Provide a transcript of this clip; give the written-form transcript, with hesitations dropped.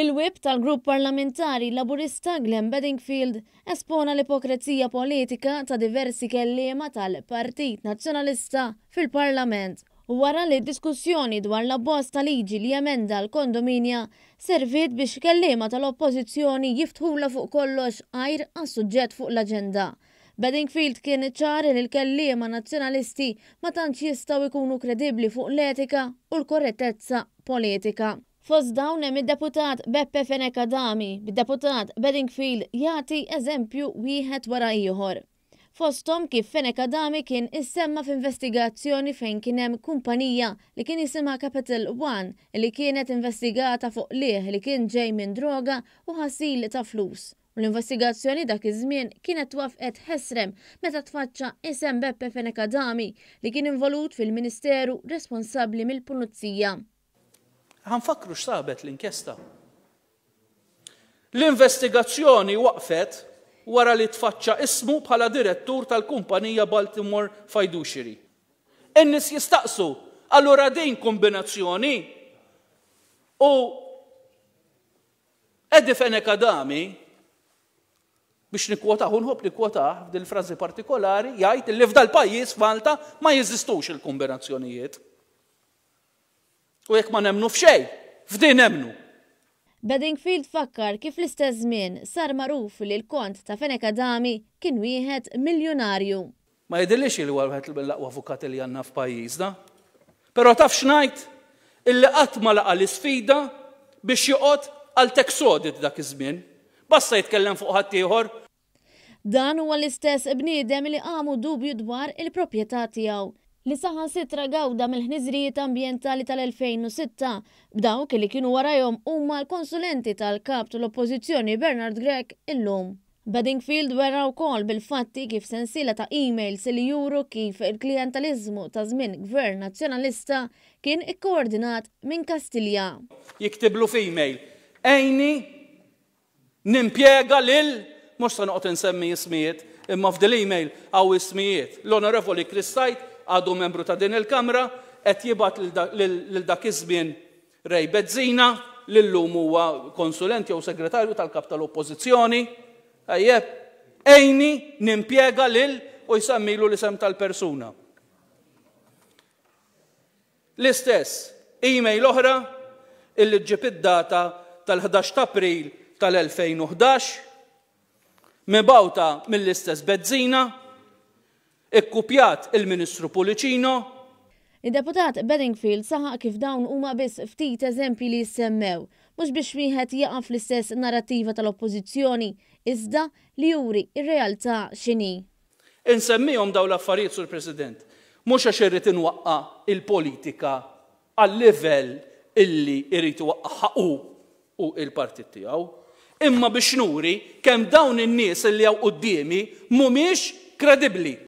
Il-Whip tal-Grupp Parlamentari Laburista Glenn Bedingfield espona l-ipokrezija politika ta' diversi kelliema tal-Partit Nazzjonalista fil-Parlament wara li d-diskussjoni dwar l-abbozz ta' liġi li jemenda l-kondominja serviet biex kelliema tal-Oppożizzjoni jiftħulha fuq kollox għajr għas-suġġett fuq l-aġenda. Bedingfield kien ċar li l-kelliema Nazzjonalisti ma tantx jistgħu jkunu kredibbli fuq l-etika u l-korrettezza politika. Fost dawn hemm id-Deputat Beppe Fenech Adami, bid-Deputat Bedingfield jagħti eżempju wieħed wara ieħor. Fosthom kif Fenech Adami kien issemma f'investigazzjoni fejn kien hemm kumpanija li kien jisimha Capital One li kienet investigata fuq qligħ li kien ġej minn droga u ħasil ta' flus. U l-investigazzjoni dak iż-żmien kienet twaffqet ħesrem meta tfaċċa isem Beppe Fenech Adami li kien involut fil-Ministeru responsabbli mill-Pulizija. Ħa nfakkru x'sabet l-inkjesta. L-investigazzjoni waqfet wara li tfaċċa ismu bħala direttur tal-kumpanija Baltimore Fiduciary. In-nies jistaqsu, allura din kombinazzjoni? U Eddie Fenech Adami, biex nikkwotah, u nħobb nikkwotah f'dil frażi partikolari, jgħid li f'dal-pajjiż f'Malta ma jeżistux il-kombinazzjonijiet. U jekk ma nemmnu f'xejn, f'din nemmnu. Bedingfield fakkar kif fl-istess żmien sar magħruf li l-kont ta' Fenech Adami kien wieħed miljunarju. Ma jidhirlix li huwa wieħed mill-aqwa avukati li għandna f'pajjiżna. Però taf x'ngħid? Illi qatt ma laqa' l-isfida biex joqgħod għal tax audit dak iż-żmien. Basta jitkellem fuq ħaddieħor. Dan huwa l-istess bniedem li qamu dubju dwar il-proprjetà tiegħu, li saħansitra gawda mill-ħniżrijiet ambjentali tal-2006, b'dawk li kienu warajhom huma l-konsulenti tal-Kap tal-Oppożizzjoni Bernard Grech illum. Bedingfield wera wkoll bil-fatti kif sensiela ta' emails li juru kif il-klijentaliżmu ta' żmien Gvern Nazzjonalista kien ikkoordinat minn Kastilja. Jiktiblu f'email, Għinni Nimpjega lil, mhux se noqgħod insemmi ismijiet, imma f'dil-email hawn ismijiet. L-Onorevoli Chris Said għadu membru ta' din il-Kamra, qed jibgħat lil dak iż-żmien Ray Bezzina, li llum huwa konsulent jew segretarju tal-Kap tal-Oppożizzjoni. Tajjeb, għinni nimpjega lil u jsemmilu l-isem tal-persuna. L-istess email oħra illi ġġib id-data tal-11 ta' April tal-2011, mibgħuta mill-istess Bezzina, ikkupjat il-Ministru Pullicino. Id-Deputat Bedingfield saħaq kif dawn huma biss ftit eżempji li jissemmew, mhux biex wieħed jaqa' fl-istess narrattiva tal-Oppożizzjoni, iżda li juri r-realtà x'inhi. Insemmihom dawn l-affarijiet, Sur President, mhux għax irrid inwaqqa' l-politika għal-livell illi jrid iwaqqagħha hu u l-partit tiegħu, imma biex nuri kemm dawn in-nies illi hawn quddiemi mhumiex kredibbli.